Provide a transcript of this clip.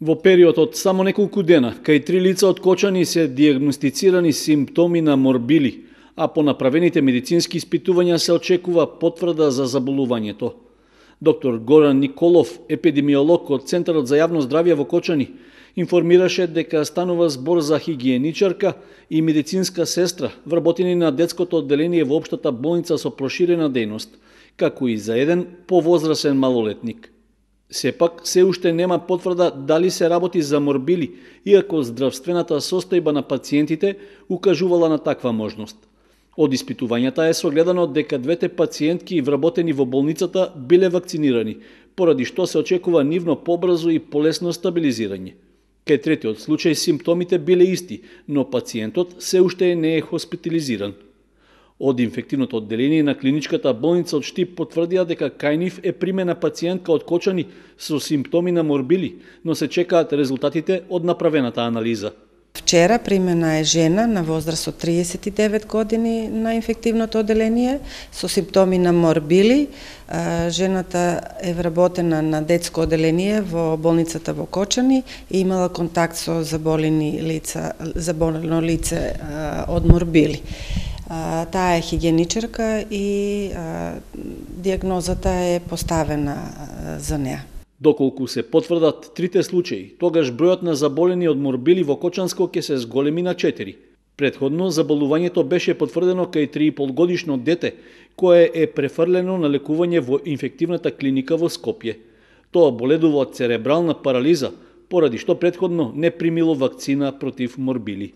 Во период од само неколку дена, кај 3 лица од Кочани се диагностицирани симптоми на морбили, а по направените медицински испитувања се очекува потврда за заболувањето. Доктор Горан Николов, епидемиолог од Центарот за јавно здравје во Кочани, информираше дека станува збор за хигиеничарка и медицинска сестра, вработени на детското одделение во општата болница со проширена дејност, како и за еден повозрасен малолетник. Сепак, се уште нема потврда дали се работи за морбили, иако здравствената состојба на пациентите укажувала на таква можност. Од испитувањата е согледано дека двете пациентки вработени во болницата биле вакцинирани, поради што се очекува нивно побрзо и полесно стабилизирање. Кај третиот случај симптомите биле исти, но пациентот се уште не е хоспитализиран. Од инфективното одделение на клиничката болница од Штип потврдија дека кај нив е примена пациентка од Кочани со симптоми на морбили, но се чекаат резултатите од направената анализа. Вчера примена е жена на возраст од 39 години на инфективното одделение со симптоми на морбили. Жената е вработена на детско одделение во болницата во Кочани и имала контакт со заболено лице од морбили. Таа е хигиеничарка и диагнозата е поставена за неа. Доколку се потврдат трите случаи, тогаш бројот на заболени од морбили во Кочанско ќе се зголеми на 4. Предходно заболувањето беше потврдено кај 3,5 годишно дете, кое е префрлено на лекување во инфективната клиника во Скопје. Тоа боледува од церебрална парализа, поради што предходно не примило вакцина против морбили.